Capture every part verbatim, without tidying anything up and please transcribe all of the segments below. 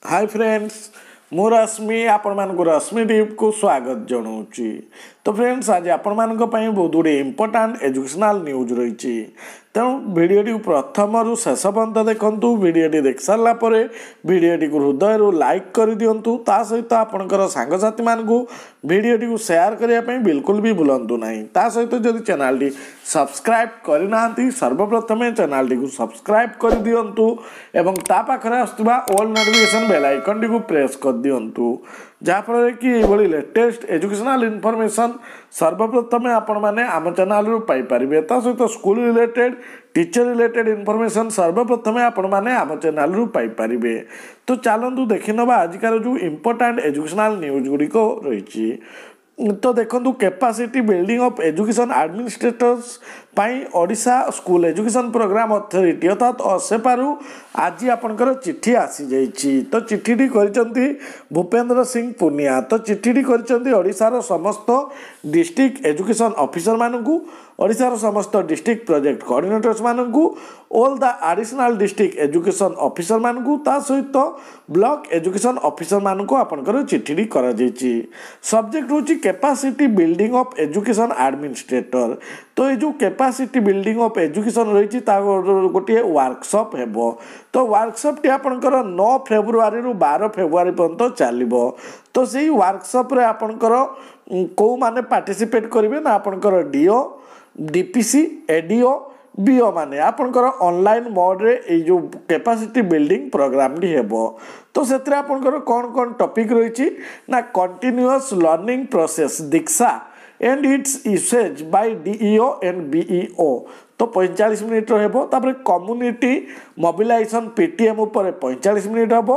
High friends ମୁଁ ରଶ୍ମି ଆପଣମାନଙ୍କୁ ରଶ୍ମି ଟିପ୍କୁ ସ୍ୱାଗତ ଜଣାଉଛି ତ ଫ୍ରେଣ୍ଡସ୍ ଆଜି ଆପଣମାନଙ୍କ ପାଇଁ ବହୁତ ଗୁଡ଼ିଏ ଇମ୍ପୋର୍ଟାଣ୍ଟ ଏଜୁକେସନାଲ୍ ନ୍ୟୁଜ୍ ରହିଛି ତେଣୁ ଭିଡ଼ିଓଟିକୁ ପ୍ରଥମରୁ ଶେଷ ପର୍ଯ୍ୟନ୍ତ ଦେଖନ୍ତୁ ଭିଡ଼ିଓଟି ଦେଖିସାରିଲା ପରେ ଭିଡ଼ିଓଟିକୁ ହୃଦୟରୁ ଲାଇକ୍ କରିଦିଅନ୍ତୁ ତା ସହିତ ଆପଣଙ୍କର ସାଙ୍ଗସାଥିମାନଙ୍କୁ ଭିଡ଼ିଓଟିକୁ ସେୟାର କରିବା ପାଇଁ ବିଲକୁଲ ବି ଭୁଲନ୍ତୁ ନାହିଁ ତା ସହିତ ଯଦି ଚ୍ୟାନେଲଟି ସବସ୍କ୍ରାଇବ୍ କରିନାହାନ୍ତି ସର୍ବପ୍ରଥମେ ଚ୍ୟାନେଲଟିକୁ ସବସ୍କ୍ରାଇବ୍ କରିଦିଅନ୍ତୁ ଏବଂ ତା ପାଖରେ ଆସୁଥିବା ଅଲ୍ ନୋଟିଫିକେସନ୍ ବେଲ୍ ଆଇକନ୍ଟିକୁ ପ୍ରେସ୍ କରିଦିଅନ୍ତୁ ଯାହାଫଳରେ କି ଏଇଭଳି ଲେଟେଷ୍ଟ ଏଜୁକେସନାଲ୍ ଇନଫର୍ମେସନ୍ ସର୍ବପ୍ରଥମେ ଆପଣମାନେ ଆମ ଚ୍ୟାନେଲରୁ ପାଇପାରିବେ ତା ସହିତ school related teacher related information ସର୍ବପ୍ରଥମେ ଆପଣମାନେ ଆମ ଚ୍ୟାନେଲରୁ ପାଇପାରିବେ ତ ଚାଲନ୍ତୁ ଦେଖିନେବା ଆଜିକାର ଯେଉଁ ଇମ୍ପୋର୍ଟାଣ୍ଟ ଏଜୁକେସନାଲ୍ ନ୍ୟୁଜ୍ ଗୁଡ଼ିକ ରହିଛି ତ ଦେଖନ୍ତୁ capacity building of education administrators ପାଇଁ Odisha school education programme authority ଅର୍ଥାତ୍ ଅସେପାରୁ ଆଜି ଆପଣଙ୍କର ଚିଠି ଆସିଯାଇଛି ତ ଚିଠିଟି କରିଛନ୍ତି ଭୂପେନ୍ଦ୍ର ସିଂ ପୁନିଆ ତ ଚିଠିଟି କରିଛନ୍ତି ଓଡ଼ିଶାର ସମସ୍ତ ଡିଷ୍ଟ୍ରିକ୍ଟ ଏଜୁକେସନ୍ ଅଫିସରମାନଙ୍କୁ ଓଡ଼ିଶାର ସମସ୍ତ ଡିଷ୍ଟ୍ରିକ୍ଟ ପ୍ରୋଜେକ୍ଟ କୋଅର୍ଡ଼ିନେଟର୍ସମାନଙ୍କୁ all the additional district education ଅଫିସରମାନଙ୍କୁ ତା ସହିତ ବ୍ଲକ ଏଜୁକେସନ୍ ଅଫିସରମାନଙ୍କୁ ଆପଣଙ୍କର ଚିଠିଟି କରାଯାଇଛି ସବଜେକ୍ଟ ହେଉଛି capacity building of education administrator ତ ଏଇ ଯେଉଁ କେପାସିଟି ବିଲ୍ଡିଂ ଅଫ୍ ଏଜୁକେସନ୍ ରହିଛି ତା ଗୋଟିଏ ୱାର୍କସପ୍ ହେବ ତ ୱାର୍କସପ୍ଟି ଆପଣଙ୍କର ନଅ ଫେବୃଆରୀରୁ ବାର ଫେବୃଆରୀ ପର୍ଯ୍ୟନ୍ତ ଚାଲିବ ତ ସେଇ ୱାର୍କସପ୍ରେ ଆପଣଙ୍କର କେଉଁମାନେ ପାର୍ଟିସିପେଟ୍ କରିବେ ନା ଆପଣଙ୍କର ଡିଓ ଡିପିସି ଏଡିଓ ବିଓ ମାନେ ଆପଣଙ୍କର ଅନଲାଇନ୍ ମୋଡ଼ରେ ଏଇ ଯେଉଁ କେପାସିଟି ବିଲ୍ଡିଂ ପ୍ରୋଗ୍ରାମଟି ହେବ ତ ସେଥିରେ ଆପଣଙ୍କର କ'ଣ କ'ଣ ଟପିକ୍ ରହିଛି ନା continuous learning process Diksha and its usage by DEO and BEO ତ ପଇଁଚାଳିଶ ମିନିଟ୍ର ହେବ ତାପରେ community mobilisation P T M ଉପରେ ପଇଁଚାଳିଶ ମିନିଟ୍ ହେବ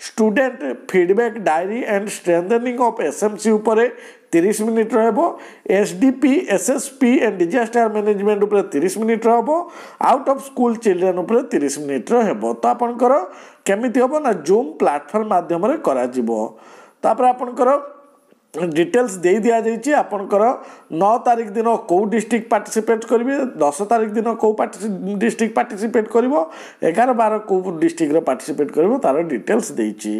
student feedback diary and strengthening of SMC ଉପରେ ତିରିଶ ମିନିଟ୍ର ହେବ S D P S S P and disaster management ଉପରେ ତିରିଶ ମିନିଟ୍ର ହେବ ଆଉଟ୍ ଅଫ୍ ସ୍କୁଲ ଚିଲଡ୍ରେନ୍ ଉପରେ ତିରିଶ ମିନିଟ୍ର ହେବ ତ ଆପଣଙ୍କର କେମିତି ହେବ ନା ଜୁମ୍ ପ୍ଲାଟଫର୍ମ ମାଧ୍ୟମରେ କରାଯିବ ତାପରେ ଆପଣଙ୍କର ଡିଟେଲ୍ସ ଦେଇ ଦିଆଯାଇଛି ଆପଣଙ୍କର ନଅ ତାରିଖ ଦିନ କେଉଁ ଡିଷ୍ଟ୍ରିକ୍ଟ ପାର୍ଟିସିପେଟ୍ କରିବେ ଦଶ ତାରିଖ ଦିନ କେଉଁ ଡିଷ୍ଟ୍ରିକ୍ଟ ପାର୍ଟିସିପେଟ୍ କରିବ ଏଗାର ବାର କେଉଁ ଡିଷ୍ଟ୍ରିକ୍ଟର ପାର୍ଟିସିପେଟ୍ କରିବ ତା'ର ଡିଟେଲ୍ସ ଦେଇଛି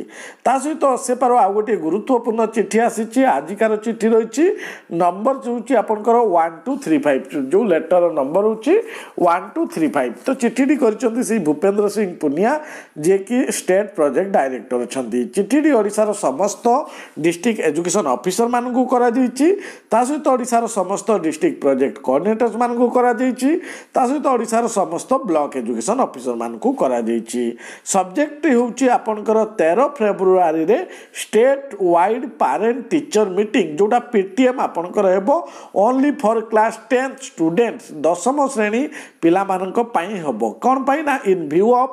ତା ସହିତ ଅସେପାର ଆଉ ଗୋଟିଏ ଗୁରୁତ୍ୱପୂର୍ଣ୍ଣ ଚିଠି ଆସିଛି ଆଜିକାର ଚିଠି ରହିଛି ନମ୍ବର ହେଉଛି ଆପଣଙ୍କର ୱାନ୍ ଟୁ ଥ୍ରୀ ଫାଇଭ୍ ଯେଉଁ ଲେଟର ନମ୍ବର ହେଉଛି ୱାନ୍ ଟୁ ଥ୍ରୀ ଫାଇଭ୍ ତ ଚିଠିଟି କରିଛନ୍ତି ସେଇ ଭୂପେନ୍ଦ୍ର ସିଂ ପୁନିଆ ଯିଏକି ଷ୍ଟେଟ୍ ପ୍ରୋଜେକ୍ଟ ଡାଇରେକ୍ଟର ଅଛନ୍ତି ଚିଠିଟି ଓଡ଼ିଶାର ସମସ୍ତ ଡିଷ୍ଟ୍ରିକ୍ଟ ଏଜୁକେସନ୍ ଅଫିସରମାନଙ୍କୁ କରାଯାଇଛି ତା ସହିତ ଓଡ଼ିଶାର ସମସ୍ତ ଡିଷ୍ଟ୍ରିକ୍ଟ ପ୍ରୋଜେକ୍ଟ କୋଅର୍ଡ଼ିନେଟର୍ସମାନଙ୍କୁ କରାଯାଇଛି ତା ସହିତ ଓଡ଼ିଶାର ସମସ୍ତ ବ୍ଲକ ଏଜୁକେସନ୍ ଅଫିସରମାନଙ୍କୁ କରାଯାଇଛି ସବଜେକ୍ଟ ହେଉଛି ଆପଣଙ୍କର ତେର ଫେବୃଆରୀରେ state wide parent teacher meeting ଯେଉଁଟା ପି ଟି ଏମ୍ ଆପଣଙ୍କର ହେବ only for class tenth students ଦଶମ ଶ୍ରେଣୀ ପିଲାମାନଙ୍କ ପାଇଁ ହେବ କ'ଣ ପାଇଁ ନା in view of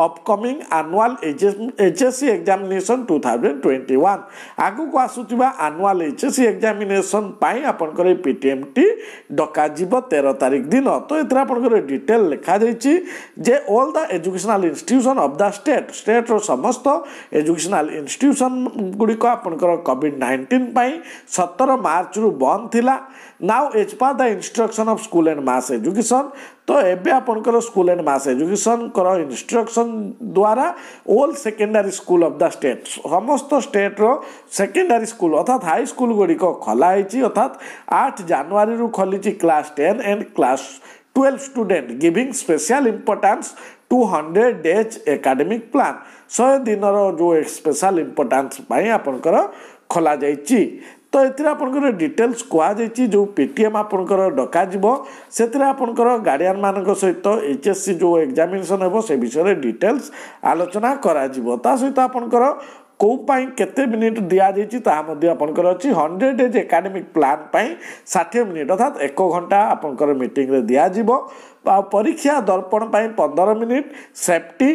upcoming annual HSC examination two thousand twenty one ଆଗକୁ ଆସୁଥିବା annual H S C examination ପାଇଁ ଆପଣଙ୍କର ଏଇ ପି ଟି ଏମ୍ଟି ଡକାଯିବ ତେର ତାରିଖ ଦିନ ତ ଏଥିରେ ଆପଣଙ୍କର ଡିଟେଲ୍ ଲେଖାଯାଇଛି ଯେ all the educational institution of the state ଷ୍ଟେଟ୍ର ସମସ୍ତ ଏଜୁକେସନାଲ୍ ଇନଷ୍ଟିଟ୍ୟୁସନ୍ ଗୁଡ଼ିକ ଆପଣଙ୍କର କୋଭିଡ଼ ନାଇଣ୍ଟିନ୍ ପାଇଁ ସତର ମାର୍ଚ୍ଚରୁ ବନ୍ଦ ଥିଲା now as per the instruction of School and Mass Education ତ ଏବେ ଆପଣଙ୍କର ସ୍କୁଲ ଆଣ୍ଡ ମାସ୍ ଏଜୁକେସନ୍ଙ୍କର ଇନଷ୍ଟ୍ରକ୍ସନ୍ ଦ୍ୱାରା all secondary school of the state ସମସ୍ତ ଷ୍ଟେଟ୍ର ସେକେଣ୍ଡାରୀ ସ୍କୁଲ ଅର୍ଥାତ୍ ହାଇ ସ୍କୁଲ ଗୁଡ଼ିକ ଖୋଲା ହେଇଛି ଅର୍ଥାତ୍ ଆଠ ଜାନୁଆରୀରୁ ଖୋଲିଛି class ten and class twelve student giving special importance to hundred days academic plan ଶହେ ଦିନର ଯେଉଁ ସ୍ପେଶାଲ ଇମ୍ପୋର୍ଟାନ୍ସ ପାଇଁ ଆପଣଙ୍କର ଖୋଲାଯାଇଛି ତ ଏଥିରେ ଆପଣଙ୍କର ଡିଟେଲ୍ସ କୁହାଯାଇଛି ଯେଉଁ ପି ଟି ଏମ୍ ଆପଣଙ୍କର ଡକାଯିବ ସେଥିରେ ଆପଣଙ୍କର ଗାର୍ଡ଼ିଆନମାନଙ୍କ ସହିତ ଏଚ୍ ଏସ୍ ସି ଯେଉଁ ଏକ୍ଜାମିନେସନ୍ ହେବ ସେ ବିଷୟରେ ଡିଟେଲ୍ସ ଆଲୋଚନା କରାଯିବ ତା ସହିତ ଆପଣଙ୍କର କେଉଁ ପାଇଁ କେତେ ମିନିଟ୍ ଦିଆଯାଇଛି ତାହା ମଧ୍ୟ ଆପଣଙ୍କର ଅଛି ହଣ୍ଡ୍ରେଡ଼ ଡେଜ୍ ଏକାଡେମିକ୍ ପ୍ଲାନ୍ ପାଇଁ ଷାଠିଏ ମିନିଟ୍ ଅର୍ଥାତ୍ ଏକ ଘଣ୍ଟା ଆପଣଙ୍କର ମିଟିଂରେ ଦିଆଯିବ ଆଉ ପରୀକ୍ଷା ଦର୍ପଣ ପାଇଁ ପନ୍ଦର ମିନିଟ୍ ସେଫ୍ଟି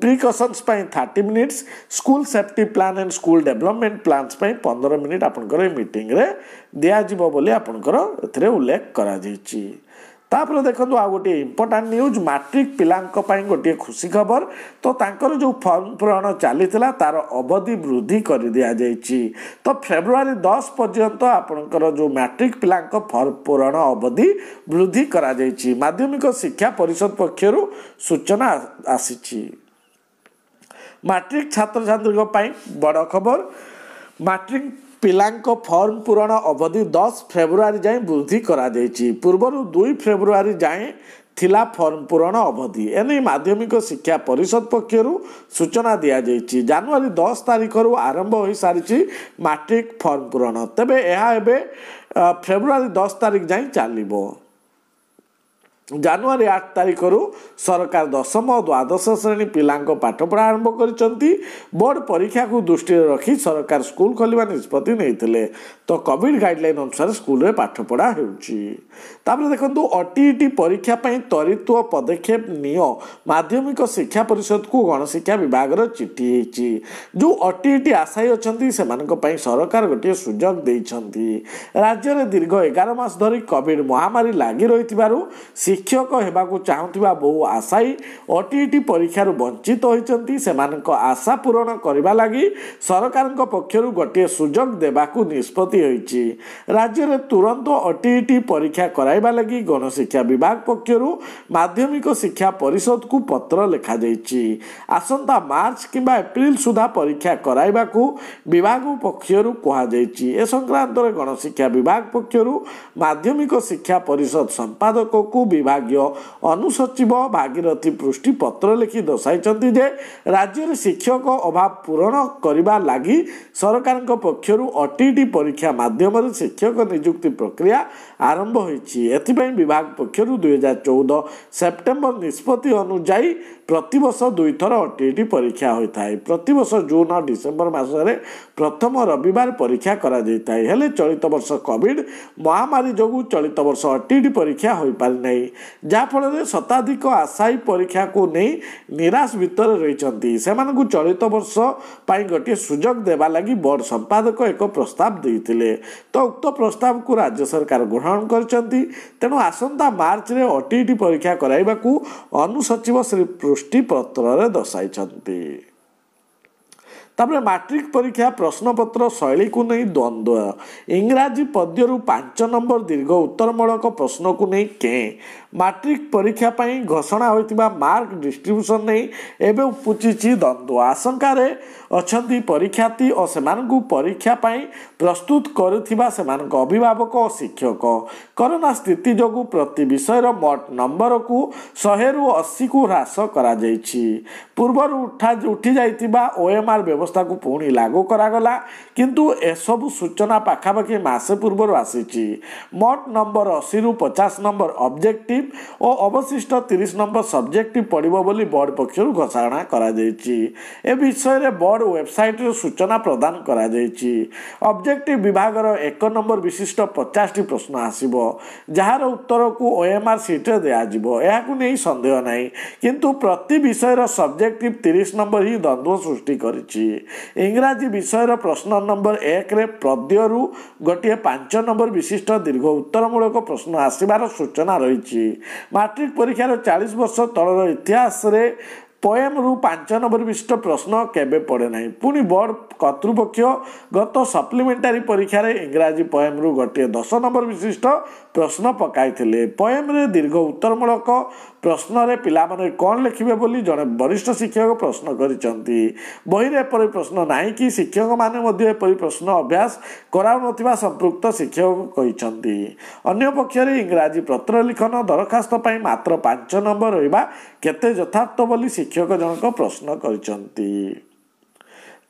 ପ୍ରିକସନ୍ସ ପାଇଁ thirty minutes school safety plan and school development plans ପାଇଁ ପନ୍ଦର ମିନିଟ୍ ଆପଣଙ୍କର ଏଇ ମିଟିଂରେ ଦିଆଯିବ ବୋଲି ଆପଣଙ୍କର ଏଥିରେ ଉଲ୍ଲେଖ କରାଯାଇଛି ତାପରେ ଦେଖନ୍ତୁ ଆଉ ଗୋଟିଏ ଇମ୍ପୋର୍ଟାଣ୍ଟ ନ୍ୟୁଜ୍ ମାଟ୍ରିକ ପିଲାଙ୍କ ପାଇଁ ଗୋଟିଏ ଖୁସି ଖବର ତ ତାଙ୍କର ଯେଉଁ ଫର୍ମ ପୂରଣ ଚାଲିଥିଲା ତାର ଅବଧି ବୃଦ୍ଧି କରିଦିଆଯାଇଛି ତ ଫେବୃଆରୀ ଦଶ ପର୍ଯ୍ୟନ୍ତ ଆପଣଙ୍କର ଯେଉଁ ମାଟ୍ରିକ ପିଲାଙ୍କ ଫର୍ମ ପୂରଣ ଅବଧି ବୃଦ୍ଧି କରାଯାଇଛି ମାଧ୍ୟମିକ ଶିକ୍ଷା ପରିଷଦ ପକ୍ଷରୁ ସୂଚନା ଆସିଛି ମାଟ୍ରିକ ଛାତ୍ରଛାତ୍ରୀଙ୍କ ପାଇଁ ବଡ଼ ଖବର। ମାଟ୍ରିକ ପିଲାଙ୍କ ଫର୍ମ ପୂରଣ ଅବଧି ଦଶ ଫେବୃଆରୀ ଯାଏଁ ବୃଦ୍ଧି କରାଯାଇଛି। ପୂର୍ବରୁ ଦୁଇ ଫେବୃଆରୀ ଯାଏଁ ଥିଲା ଫର୍ମ ପୂରଣ ଅବଧି। ଏନେଇ ମାଧ୍ୟମିକ ଶିକ୍ଷା ପରିଷଦ ପକ୍ଷରୁ ସୂଚନା ଦିଆଯାଇଛି। ଜାନୁଆରୀ ଦଶ ତାରିଖରୁ ଆରମ୍ଭ ହୋଇସାରିଛି ମାଟ୍ରିକ ଫର୍ମ ପୂରଣ। ତେବେ ଏହା ଏବେ ଫେବୃଆରୀ ଦଶ ତାରିଖ ଯାଏଁ ଚାଲିବ। ଜାନୁଆରୀ ଆଠ ତାରିଖରୁ ସରକାର ଦଶମ ଓ ଦ୍ୱାଦଶ ଶ୍ରେଣୀ ପିଲାଙ୍କ ପାଠପଢ଼ା ଆରମ୍ଭ କରିଛନ୍ତି। ବୋର୍ଡ଼ ପରୀକ୍ଷାକୁ ଦୃଷ୍ଟିରେ ରଖି ସରକାର ସ୍କୁଲ ଖୋଲିବା ନିଷ୍ପତ୍ତି ନେଇଥିଲେ। ତ କୋଭିଡ଼ ଗାଇଡ଼ଲାଇନ୍ ଅନୁସାରେ ସ୍କୁଲରେ ପାଠପଢ଼ା ହେଉଛି। ତାପରେ ଦେଖନ୍ତୁ, ଓଟିଇଟି ପରୀକ୍ଷା ପାଇଁ ତ୍ୱରିତ ପଦକ୍ଷେପ ନିଅ, ମାଧ୍ୟମିକ ଶିକ୍ଷା ପରିଷଦକୁ ଗଣଶିକ୍ଷା ବିଭାଗର ଚିଠି ହେଇଛି। ଯେଉଁ ଓଟିଇଟି ଆଶାୟୀ ଅଛନ୍ତି ସେମାନଙ୍କ ପାଇଁ ସରକାର ଗୋଟିଏ ସୁଯୋଗ ଦେଇଛନ୍ତି। ରାଜ୍ୟରେ ଦୀର୍ଘ ଏଗାର ମାସ ଧରି କୋଭିଡ଼ ମହାମାରୀ ଲାଗି ରହିଥିବାରୁ ଶିକ୍ଷକ ହେବାକୁ ଚାହୁଁଥିବା ବହୁ ଆଶାୟୀ ଓଟିଇଟି ପରୀକ୍ଷାରୁ ବଞ୍ଚିତ ହୋଇଛନ୍ତି। ସେମାନଙ୍କ ଆଶା ପୂରଣ କରିବା ଲାଗି ସରକାରଙ୍କ ପକ୍ଷରୁ ଗୋଟିଏ ସୁଯୋଗ ଦେବାକୁ ନିଷ୍ପତ୍ତି ହୋଇଛି। ରାଜ୍ୟରେ ତୁରନ୍ତ ଓଟିଇଟି ପରୀକ୍ଷା କରାଇବା ଲାଗି ଗଣଶିକ୍ଷା ବିଭାଗ ପକ୍ଷରୁ ମାଧ୍ୟମିକ ଶିକ୍ଷା ପରିଷଦକୁ ପତ୍ର ଲେଖାଯାଇଛି। ଆସନ୍ତା ମାର୍ଚ୍ଚ କିମ୍ବା ଏପ୍ରିଲ ସୁଦ୍ଧା ପରୀକ୍ଷା କରାଇବାକୁ ବିଭାଗ ପକ୍ଷରୁ କୁହାଯାଇଛି। ଏ ସଂକ୍ରାନ୍ତରେ ଗଣଶିକ୍ଷା ବିଭାଗ ପକ୍ଷରୁ ମାଧ୍ୟମିକ ଶିକ୍ଷା ପରିଷଦ ସମ୍ପାଦକକୁ ବିଭାଗୀୟ ଅନୁସଚିବ ଭାଗୀରଥୀ ପୃଷ୍ଟି ପତ୍ର ଲେଖି ଦର୍ଶାଇଛନ୍ତି ଯେ ରାଜ୍ୟରେ ଶିକ୍ଷକ ଅଭାବ ପୂରଣ କରିବା ଲାଗି ସରକାରଙ୍କ ପକ୍ଷରୁ ଓଟିଇଟି ପରୀକ୍ଷା ମାଧ୍ୟମରେ ଶିକ୍ଷକ ନିଯୁକ୍ତି ପ୍ରକ୍ରିୟା ଆରମ୍ଭ ହୋଇଛି। ଏଥିପାଇଁ ବିଭାଗ ପକ୍ଷରୁ ଦୁଇହଜାର ଚଉଦ ସେପ୍ଟେମ୍ବର ନିଷ୍ପତ୍ତି ଅନୁଯାୟୀ ପ୍ରତିବର୍ଷ ଦୁଇଥର ଓଟିଇଟି ପରୀକ୍ଷା ହୋଇଥାଏ। ପ୍ରତିବର୍ଷ ଜୁନ୍ ଓ ଡିସେମ୍ବର ମାସରେ ପ୍ରଥମ ରବିବାର ପରୀକ୍ଷା କରାଯାଇଥାଏ। ହେଲେ ଚଳିତ ବର୍ଷ କୋଭିଡ଼ ମହାମାରୀ ଯୋଗୁଁ ଚଳିତ ବର୍ଷ ଓଟିଇଟି ପରୀକ୍ଷା ହୋଇପାରିନାହିଁ, ଯାହାଫଳରେ ଶତାଧିକ ଆଶାୟୀ ପରୀକ୍ଷାକୁ ନେଇ ନିରାଶ ଭିତରେ ରହିଛନ୍ତି। ସେମାନଙ୍କୁ ଚଳିତ ବର୍ଷ ପାଇଁ ଗୋଟିଏ ସୁଯୋଗ ଦେବା ଲାଗି ବୋର୍ଡ଼ ସମ୍ପାଦକ ଏକ ପ୍ରସ୍ତାବ ଦେଇଥିଲେ। ତ ଉକ୍ତ ପ୍ରସ୍ତାବକୁ ରାଜ୍ୟ ସରକାର ଗ୍ରହଣ କରିଛନ୍ତି। ତେଣୁ ଆସନ୍ତା ମାର୍ଚ୍ଚରେ ଓଟିଇଟି ପରୀକ୍ଷା କରାଇବାକୁ ଅନୁସଚିବ ଶ୍ରୀ ପୃଷ୍ଟି ପତ୍ରରେ ଦର୍ଶାଇଛନ୍ତି। ତାପରେ ମାଟ୍ରିକ ପରୀକ୍ଷା ପ୍ରଶ୍ନପତ୍ର ଶୈଳୀକୁ ନେଇ ଦ୍ୱନ୍ଦ୍ୱ। ଇଂରାଜୀ ପଦ୍ୟରୁ ପାଞ୍ଚ ନମ୍ବର ଦୀର୍ଘ ଉତ୍ତରମୂଳକ ପ୍ରଶ୍ନକୁ ନେଇ କେଁ। ମାଟ୍ରିକ ପରୀକ୍ଷା ପାଇଁ ଘୋଷଣା ହୋଇଥିବା ମାର୍କ ଡିଷ୍ଟ୍ରିବ୍ୟୁସନ୍ ନେଇ ଏବେ ଉପୁଜିଛି ଦ୍ୱନ୍ଦ୍ୱ। ଆଶଙ୍କାରେ ଅଛନ୍ତି ପରୀକ୍ଷାର୍ଥୀ ଓ ସେମାନଙ୍କୁ ପରୀକ୍ଷା ପାଇଁ ପ୍ରସ୍ତୁତ କରୁଥିବା ସେମାନଙ୍କ ଅଭିଭାବକ ଓ ଶିକ୍ଷକ। କରୋନା ସ୍ଥିତି ଯୋଗୁଁ ପ୍ରତି ବିଷୟର ମୋଟ ନମ୍ବରକୁ ଶହେରୁ ଅଶୀକୁ ହ୍ରାସ କରାଯାଇଛି। ପୂର୍ବରୁ ଉଠା ଉଠିଯାଇଥିବା ଓଏମ୍ଆର୍ ବ୍ୟବସ୍ଥାକୁ ପୁଣି ଲାଗୁ କରାଗଲା, କିନ୍ତୁ ଏସବୁ ସୂଚନା ପାଖାପାଖି ମାସେ ପୂର୍ବରୁ ଆସିଛି। ମୋଟ ନମ୍ବର ଅଶୀରୁ ପଚାଶ ନମ୍ବର ଅବଜେକ୍ଟିଭ ଓ ଅବଶିଷ୍ଟ ତିରିଶ ନମ୍ବର ସବଜେକ୍ଟିଭ ପଡ଼ିବ ବୋଲି ବୋର୍ଡ଼ ପକ୍ଷରୁ ଘୋଷଣା କରାଯାଇଛି। ଏ ବିଷୟରେ ବୋର୍ଡ଼ ୱେବସାଇଟ୍ରେ ସୂଚନା ପ୍ରଦାନ କରାଯାଇଛି। ଅବଜେକ୍ଟିଭ ବିଭାଗର ଏକ ନମ୍ବର ବିଶିଷ୍ଟ ପଚାଶଟି ପ୍ରଶ୍ନ ଆସିବ, ଯାହାର ଉତ୍ତରକୁ ଓଏମ୍ଆର୍ ସିଟ୍ରେ ଦିଆଯିବ। ଏହାକୁ ନେଇ ସନ୍ଦେହ ନାହିଁ, କିନ୍ତୁ ପ୍ରତି ବିଷୟର ସବଜେକ୍ଟିଭ ତିରିଶ ନମ୍ବର ହିଁ ଦ୍ୱନ୍ଦ୍ୱ ସୃଷ୍ଟି କରିଛି। ଇଂରାଜୀ ବିଷୟର ପ୍ରଶ୍ନ ନମ୍ବର ଏକରେ ପଦ୍ୟରୁ ଗୋଟିଏ ପାଞ୍ଚ ନମ୍ବର ବିଶିଷ୍ଟ ଦୀର୍ଘ ଉତ୍ତରମୂଳକ ପ୍ରଶ୍ନ ଆସିବାର ସୂଚନା ରହିଛି। ମାଟ୍ରିକ ପରୀକ୍ଷାର ଚାଳିଶ ବର୍ଷ ତଳର ଇତିହାସରେ ପଏମ୍ରୁ ପାଞ୍ଚ ନମ୍ବର ବିଶିଷ୍ଟ ପ୍ରଶ୍ନ କେବେ ପଡ଼େ ନାହିଁ। ପୁଣି ବୋର୍ଡ଼ କର୍ତ୍ତୃପକ୍ଷ ଗତ ସପ୍ଲିମେଣ୍ଟାରୀ ପରୀକ୍ଷାରେ ଇଂରାଜୀ ପଏମ୍ରୁ ଗୋଟିଏ ଦଶ ନମ୍ବର ବିଶିଷ୍ଟ ପ୍ରଶ୍ନ ପକାଇଥିଲେ। ପଏମ୍ରେ ଦୀର୍ଘ ଉତ୍ତରମୂଳକ ପ୍ରଶ୍ନରେ ପିଲାମାନେ କ'ଣ ଲେଖିବେ ବୋଲି ଜଣେ ବରିଷ୍ଠ ଶିକ୍ଷକ ପ୍ରଶ୍ନ କରିଛନ୍ତି। ବହିରେ ଏପରି ପ୍ରଶ୍ନ ନାହିଁ କି ଶିକ୍ଷକମାନେ ମଧ୍ୟ ଏପରି ପ୍ରଶ୍ନ ଅଭ୍ୟାସ କରାଉନଥିବା ସମ୍ପୃକ୍ତ ଶିକ୍ଷକ କହିଛନ୍ତି। ଅନ୍ୟପକ୍ଷରେ ଇଂରାଜୀ ପତ୍ର ଲିଖନ ଦରଖାସ୍ତ ପାଇଁ ମାତ୍ର ପାଞ୍ଚ ନମ୍ବର ରହିବା କେତେ ଯଥାର୍ଥ ବୋଲି ଶିକ୍ଷକ ଜଣକ ପ୍ରଶ୍ନ କରିଛନ୍ତି।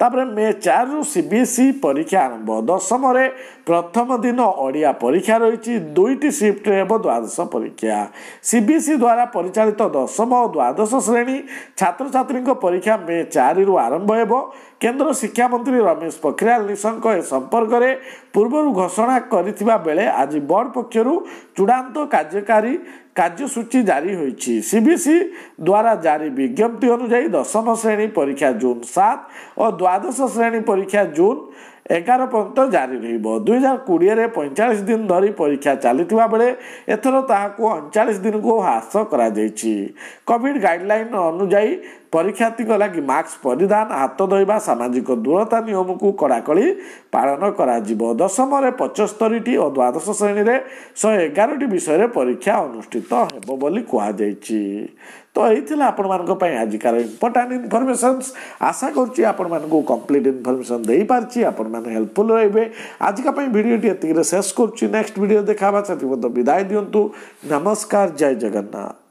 ତାପରେ ମେ ଚାରିରୁ ସିବିଏସ୍ଇ ପରୀକ୍ଷା ଆରମ୍ଭ। ଦଶମରେ ପ୍ରଥମ ଦିନ ଓଡ଼ିଆ ପରୀକ୍ଷା ରହିଛି। ଦୁଇଟି ସିଫ୍ଟରେ ହେବ ଦ୍ୱାଦଶ ପରୀକ୍ଷା। ସିବିଏସ୍ଇ ଦ୍ୱାରା ପରିଚାଳିତ ଦଶମ ଓ ଦ୍ୱାଦଶ ଶ୍ରେଣୀ ଛାତ୍ରଛାତ୍ରୀଙ୍କ ପରୀକ୍ଷା ମେ ଚାରିରୁ ଆରମ୍ଭ ହେବ। କେନ୍ଦ୍ର ଶିକ୍ଷାମନ୍ତ୍ରୀ ରମେଶ ପୋଖରିଆଲ ନିଶଙ୍କ ଏ ସମ୍ପର୍କରେ ପୂର୍ବରୁ ଘୋଷଣା କରିଥିବା ବେଳେ ଆଜି ବୋର୍ଡ଼ ପକ୍ଷରୁ ଚୂଡ଼ାନ୍ତ କାର୍ଯ୍ୟକାରୀ କାର୍ଯ୍ୟସୂଚୀ ଜାରି ହୋଇଛି। ସିବିଏସ୍ଇ ଦ୍ୱାରା ଜାରି ବିଜ୍ଞପ୍ତି ଅନୁଯାୟୀ ଦଶମ ଶ୍ରେଣୀ ପରୀକ୍ଷା ଜୁନ୍ ସାତ ଓ ଦ୍ୱାଦଶ ଶ୍ରେଣୀ ପରୀକ୍ଷା ଜୁନ୍ ଏଗାର ପର୍ଯ୍ୟନ୍ତ ଜାରି ରହିବ। ଦୁଇହଜାର କୋଡ଼ିଏରେ ପଇଁଚାଳିଶ ଦିନ ଧରି ପରୀକ୍ଷା ଚାଲିଥିବା ବେଳେ ଏଥର ତାହାକୁ ଅଣଚାଳିଶ ଦିନକୁ ହ୍ରାସ କରାଯାଇଛି। କୋଭିଡ଼ ଗାଇଡ଼ଲାଇନ୍ ଅନୁଯାୟୀ ପରୀକ୍ଷାର୍ଥୀଙ୍କ ଲାଗି ମାସ୍କ ପରିଧାନ, ହାତ ଧୋଇବା, ସାମାଜିକ ଦୂରତା ନିୟମକୁ କଡ଼ାକଡ଼ି ପାଳନ କରାଯିବ। ଦଶମରେ ପଞ୍ଚସ୍ତରୀଟି ଓ ଦ୍ୱାଦଶ ଶ୍ରେଣୀରେ ଶହେ ଏଗାରଟି ବିଷୟରେ ପରୀକ୍ଷା ଅନୁଷ୍ଠିତ ହେବ ବୋଲି କୁହାଯାଇଛି। ତ ଏଇ ଥିଲା ଆପଣମାନଙ୍କ ପାଇଁ ଆଜିକାର ଇମ୍ପୋର୍ଟାଣ୍ଟ ଇନଫର୍ମେସନ୍ସ। ଆଶା କରୁଛି ଆପଣମାନଙ୍କୁ କମ୍ପ୍ଲିଟ୍ ଇନଫର୍ମେସନ୍ ଦେଇପାରିଛି, ଆପଣମାନେ ହେଲ୍ପଫୁଲ୍ ରହିବେ। ଆଜିକା ପାଇଁ ଭିଡ଼ିଓଟି ଏତିକିରେ ଶେଷ କରୁଛି। ନେକ୍ସଟ ଭିଡ଼ିଓ ଦେଖା ହେବା, ସେଥି ମଧ୍ୟ ବିଦାୟ ଦିଅନ୍ତୁ। ନମସ୍କାର, ଜୟ ଜଗନ୍ନାଥ।